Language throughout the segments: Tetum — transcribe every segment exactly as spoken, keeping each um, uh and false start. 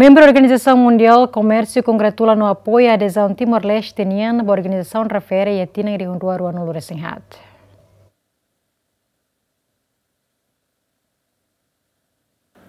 Membru Organizasaun Mundiál Komérsiu kongratula no apoia adezaun Timor-Leste nian ba organizasaun refere iha tinan rihun rua ruanulu resin haat.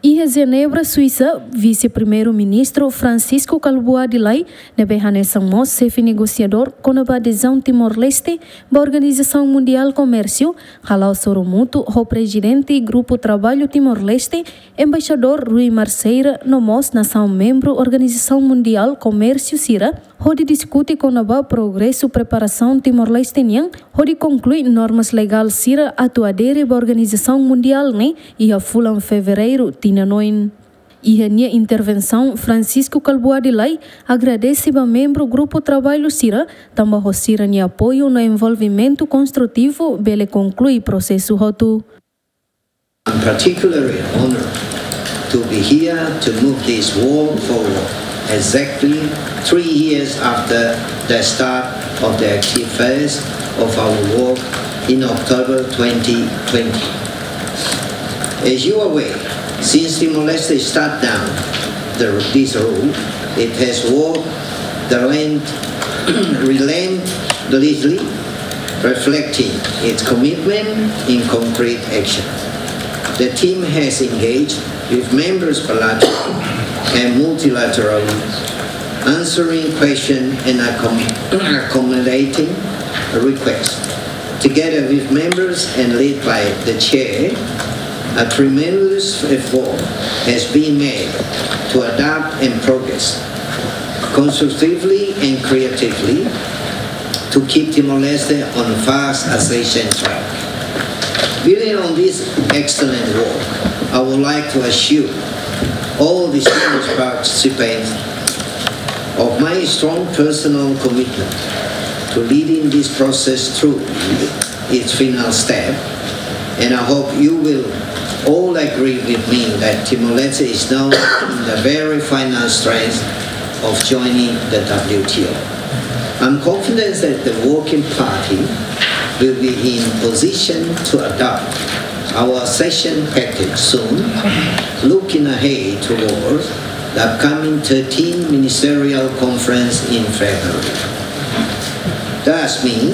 Iha Jenebra, Suisa, Vise-Primeiru-Ministru Francisco Kalbuadi Lay, ne'ebé hanesan mós xefe negosiadór kona-ba adezaun Timor-Leste ba Organizasaun Mundiál Komérsiu, hala'o sorumutu ho Prezidente Grupu Traballu Timor-Leste, Embaixadór Rui Marceira, no mós nasaun membru Organizasaun Mundiál Komérsiu sira, hodi diskute kona-ba progresu preparasaun Timor-Leste nian hodi konklui normas legál sira atu adere ba organizasaun mundiál ne'e iha fulan Fevereiru tinan oin. Iha nia intervensaun, Francisco Kalbuadi Lay agradese ba membru grupu traballu sira, tanba ho sira-nia apoiu no envolvimentu konstrutivu bele konklui prosesu hotu. I'm particularly honored to be here to move this work forward exactly three years after the start of the active phase of our work in October twenty twenty. As you are aware, since Timor-Leste shut down the, this road, it has worked the land, relentlessly, reflecting its commitment in concrete action. The team has engaged with members bilateral and multilateral, answering questions and accom-, accommodating requests. Together with members and led by the chair, a tremendous effort has been made to adapt and progress constructively and creatively to keep Timor-Leste on fast accession track. Building on this excellent work, I would like to assure all distinguished participants of my strong personal commitment to leading this process through its final step, and I hope you will all agree with me that Timor-Leste is now in the very final stretch of joining the W T O. I'm confident that the working party will be in position to adopt our accession package soon, looking ahead towards the upcoming thirteenth Ministerial Conference in February. Thus, me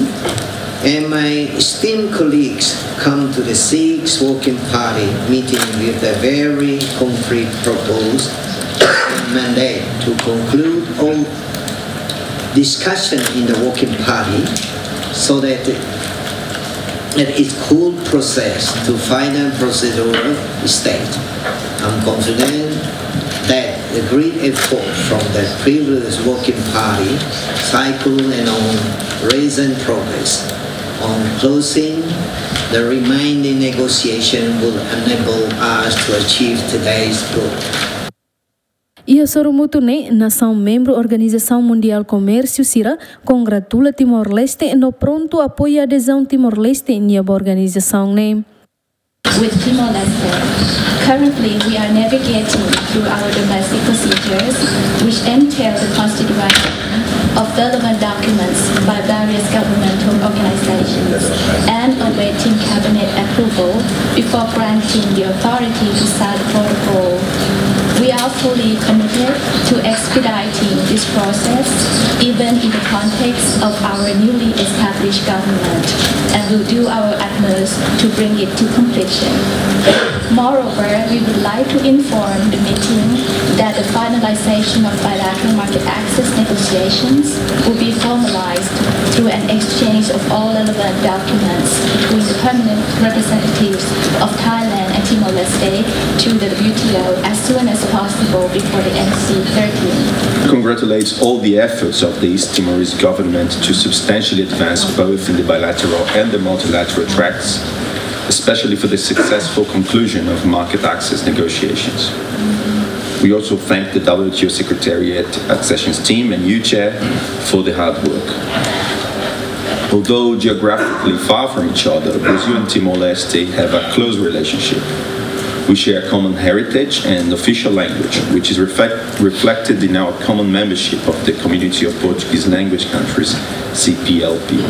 and my esteemed colleagues come to the sixth Working Party meeting with a very concrete purpose and mandate to conclude all discussion in the Working Party so that, that it could process to final procedural stage. I'm confident that the great effort from the previous Working Party cycle and on recent progress on closing the remaining negotiation will enable us to achieve today's goal. Iha sorumutu ne'e, nasaun membru Organizasaun Mundiál Komérsiu sira kongratula Timor-Leste no prontu apoia adezaun Timor-Leste nian ba organizasaun ne'e. With Timor-Leste, currently we are navigating through our domestic procedures, which entail the constitution of relevant documents by various governmental organizations and awaiting cabinet approval before granting the authority to sign the protocol. We are fully committed to expediting this process, even in the context of our newly established government, and will do our utmost to bring it to completion. Moreover, we would like to inform the meeting that the finalization of bilateral market access negotiations will be formalized through an exchange of all relevant documents between the permanent representatives of Thailand and Timor-Leste to the W T O as soon as possible before the N C thirteen. Congratulates all the efforts of the East Timorese government to substantially advance both in the bilateral and the multilateral tracks, especially for the successful conclusion of market access negotiations. We also thank the W T O Secretariat, Accessions Team, and you, Chair, for the hard work. Although geographically far from each other, Brazil and Timor-Leste have a close relationship. We share a common heritage and official language, which is reflect-, reflected in our common membership of the Community of Portuguese Language Countries, C P L P.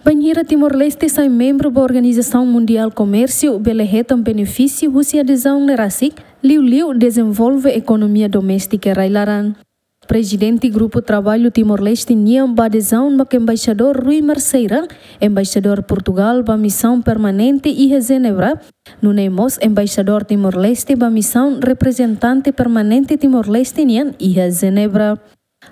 Bainhira Timor-Leste sai membru ba Organizasaun Mundiál Komérsiu, bele hetan benefísiu husi adezaun ne'e rasik, liuliu dezenvolve ekonomia doméstika rai-laran. Prezidente Grupu Traballu Timor-Leste nian ba adezaun mak Embaixadór Rui Marceira, Embaixadór Portugál ba misaun permanente iha Jenebra, nune'e mós Embaixadór Timor-Leste ba misaun reprezentante permanente Timor-Leste nian iha Jenebra.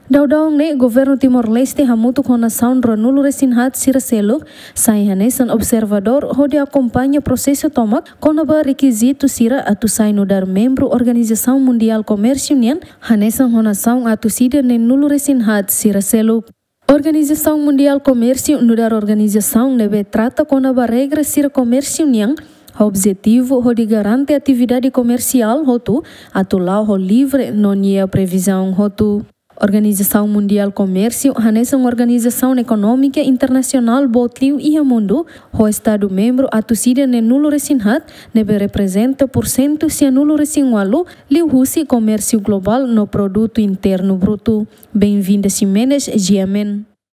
Daudaun ne'e, Governu Timor-Leste hamutuk ho nasaun ruanulu-resin-haat sira seluk sai hanesan observadór hodi akompaña prosesu tomak kona-ba rekizitu sira atu sai nu'udar membru Organizasaun Mundiál Komérsiu nian, hanesan ho nasaun atus ida neenulu-resin-haat sira seluk. Organizasaun Mundiál Komérsiu nu'udar organizasaun ne'ebé trata kona-ba regra sira komérsiu nian, ho objetivu hodi garante atividade komersiál hotu atu la'o ho livre no nia previzaun hotu. Organizasaun Mundiál Komérsiu hanesan organizasaun ekonómika internasionál boot liu iha mundu, ho estadu membru atus ida neenulu-resin-haat, ne'ebé reprezenta pursentu sianulu-resin-ualu liuhusi komérsiu globál no produtu internu brutu. Benvinda Ximenes, G M N.